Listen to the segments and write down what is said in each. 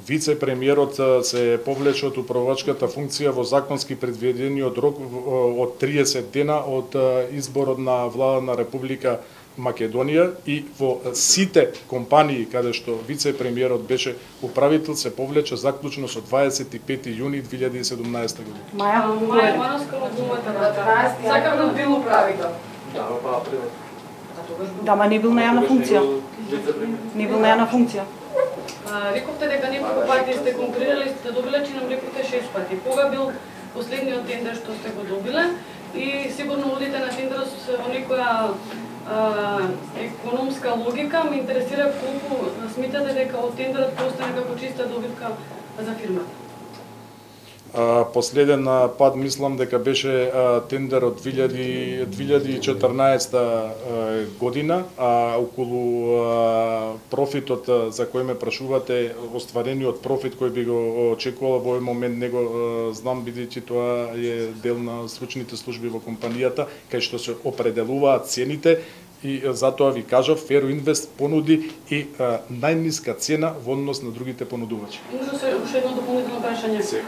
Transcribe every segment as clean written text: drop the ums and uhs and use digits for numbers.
вице-премиерот се повлече од управувачката функција во законски предвидениот рок од 30 дена од изборот на влада на Република Македонија и во сите компании каде што вице-премиерот беше управител се повлече заклучно со 25 јуни 2017 година. Маја Маноскова думата на 12 сакам да бил управител. Да, ма не бил на јавна функција. Не бил на јавна функција. Рековте дека неколку пати сте конкурирали, сте добиле, че нам рековте 6 пати. Кога бил последниот тендер што сте го добиле? И сигурно одите на тендер во некоја економска логика. Ме интересира колку смитате дека од тендерот постане како чиста добитка за фирмата? Последен пат мислам дека беше тендер од 2014 година, а околу профитот за кој ме прашувате, остварениот профит кој би го очекувал во овој момент не го знам, бидејќи тоа е дел на стручните служби во компанијата, кај што се определуваат цените. И затоа ви кажав, Фероинвест понуди и најниска цена во однос на другите понудувачи. Може уште едно дополнително прашање. Се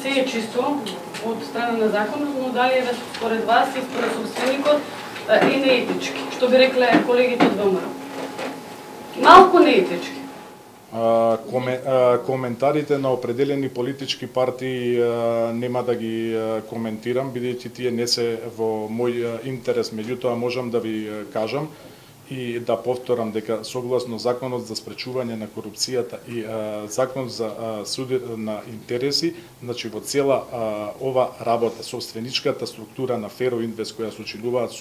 е чисто од страна на законот, но дали е според вас и според собственикот е неетички, што би рекле колегите од ВМРО? Малку неетички. Коментарите на определени политички партии нема да ги коментирам, бидејќи тие не се во мој интерес, меѓутоа можам да ви кажам и да повторам дека согласно Законот за спречување на корупцијата и Закон за суд на интереси, значи во цела ова работа, собственичката структура на Фероинвест која сочинуваат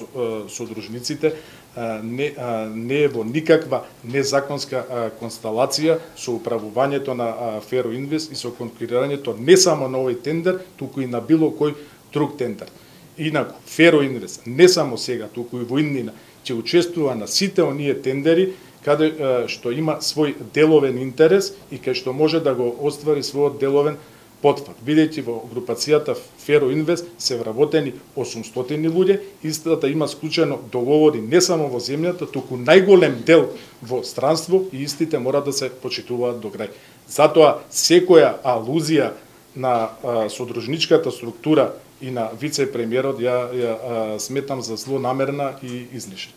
содружниците, не е во никаква незаконска констелација со управувањето на Фероинвест и со конкурирањето не само на овој тендер, туку и на било кој друг тендер. Инаку, Фероинвест не само сега, туку и во иднина, ќе учествува на сите оние тендери каде што има свој деловен интерес и кај што може да го оствари својот деловен потфак. Бидејќи во групацијата Фероинвест се вработени 800 луѓе, истата има склучено договори не само во земјата, туку најголем дел во странство и истите мора да се почитуваат до крај. Затоа секоја алузија на содружничката структура и на вице-премиерот ја сметам за злонамерна и излишна.